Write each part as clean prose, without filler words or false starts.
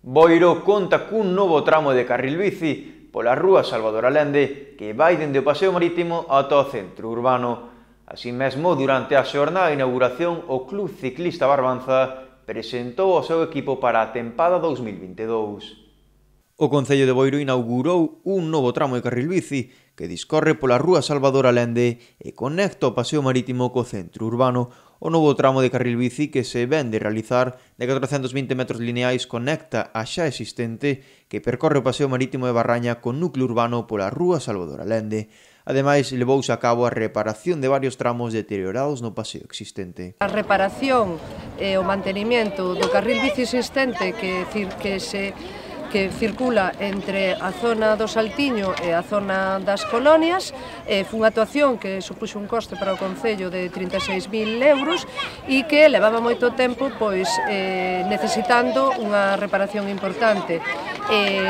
Boiro conta cun novo tramo de carril bici pola rúa Salvador Allende que vai dende o Paseo Marítimo ata o centro urbano. Así mesmo, durante a xornada de inauguración, o Club Ciclista Barbanza presentou o seu equipo para a tempada 2022. O Concello de Boiro inaugurou un novo tramo de carril bici que discorre pola rúa Salvador Allende e conecta o Paseo Marítimo co centro urbano. O novo tramo de carril bici que se ven de realizar de 420 metros lineais conecta a xa existente que percorre o Paseo Marítimo de Barraña con núcleo urbano pola rúa Salvador Allende. Ademais, levouse a cabo a reparación de varios tramos deteriorados no paseo existente. A reparación e o mantenimento do carril bici existente que circula entre a zona do Saltiño e a zona das Colonias foi unha actuación que supuxo un coste para o Concello de 36.000 euros e que levaba moito tempo necesitando unha reparación importante.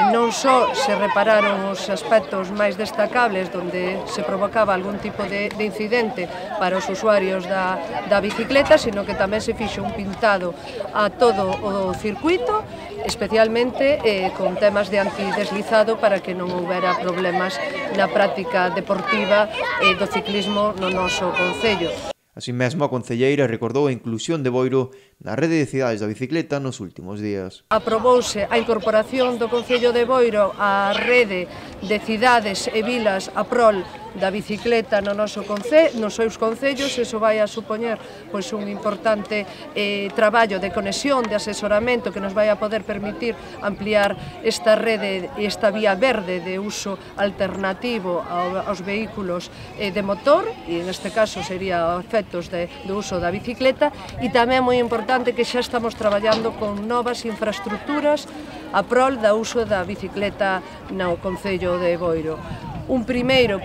Non só se repararon os aspectos máis destacables onde se provocaba algún tipo de incidente para os usuarios da bicicleta, sino que tamén se fixo un pintado a todo o circuito, especialmente con temas de antideslizado para que non houbera problemas na práctica deportiva do ciclismo no noso concello. Así mesmo, a concelleira recordou a inclusión de Boiro na rede de cidades da bicicleta nos últimos días. Aprobouse a incorporación do Concello de Boiro á rede de cidades e vilas a prol da bicicleta nos seus concellos. Iso vai a supoñer un importante traballo de conexión, de asesoramento que nos vai a poder permitir ampliar esta rede e esta vía verde de uso alternativo aos vehículos de motor, e neste caso sería efectos do uso da bicicleta, e tamén moi importante que xa estamos traballando con novas infraestructuras a prol do uso da bicicleta no Concello de Boiro. Un primeiro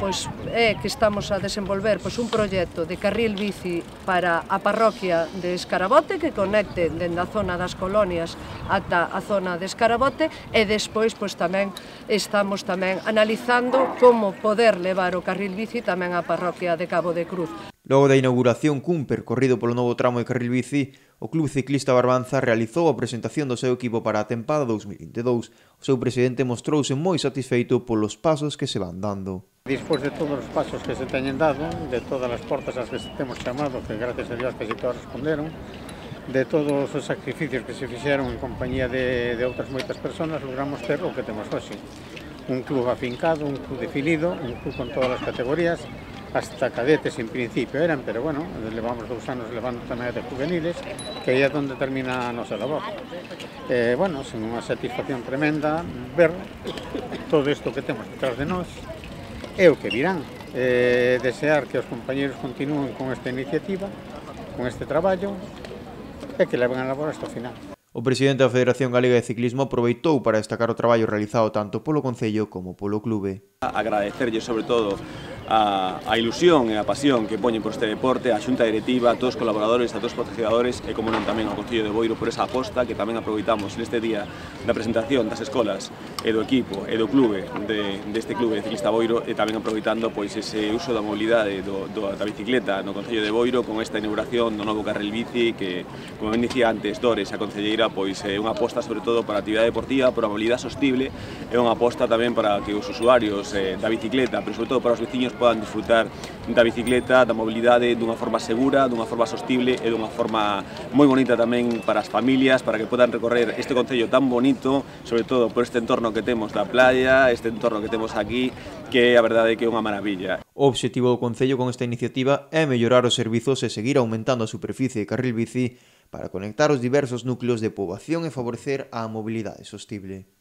é que estamos a desenvolver un proxecto de carril bici para a parroquia de Escarabote que conecte dende a zona das Colonias ata a zona de Escarabote, e despois tamén estamos analizando como poder levar o carril bici tamén á parroquia de Cabo de Cruz. Logo da inauguración cun percorrido polo novo tramo de carril bici, o Club Ciclista Barbanza realizou a presentación do seu equipo para a tempada 2022. O seu presidente mostrouse moi satisfeito polos pasos que se van dando. Despois de todos os pasos que se teñen dado, de todas as portas ás que se temos chamado, que gracias a Dios casi todas responderon, de todos os sacrificios que se fixeron en compañía de outras moitas persoas, logramos ter o que temos hoxe. Un club afincado, un club definido, un club con todas as categorías, hasta cadetes en principio eran, pero bueno, levamos 2 anos levando tamén de juveniles, que aí é onde termina a nosa labor. Bueno, sen unha satisfacción tremenda ver todo isto que temos detrás de nós e o que virán. Desear que os compañeros continúen con esta iniciativa, con este traballo, e que leven a labor hasta o final. O presidente da Federación Galega de Ciclismo aproveitou para destacar o traballo realizado tanto polo Concello como polo clube. Agradecerlle sobre todo a ilusión e a pasión que poñen por este deporte, a Xunta Directiva, a todos os colaboradores, a todos os patrocinadores e, como non, tamén ao Concello de Boiro por esa aposta que tamén aproveitamos neste día da presentación das escolas e do equipo e do clube deste clube de ciclista Boiro, e tamén aproveitando ese uso da mobilidade da bicicleta no Concello de Boiro con esta inauguración do novo carril bici que, como ben dicía antes Dores, a concelleira, é unha aposta sobre todo para a actividade deportiva, para a mobilidade sostible, e unha aposta tamén para que os usuarios da bicicleta, pero sobre todo para os veciños, podan disfrutar da bicicleta, da mobilidade dunha forma segura, dunha forma sostible e dunha forma moi bonita tamén para as familias, para que podan recorrer este concello tan bonito, sobre todo por este entorno que temos da playa, este entorno que temos aquí, que a verdade é que é unha maravilla. O obxectivo do Concello con esta iniciativa é mellorar os servizos e seguir aumentando a superficie de carril bici para conectar os diversos núcleos de poboación e favorecer a mobilidade sostible.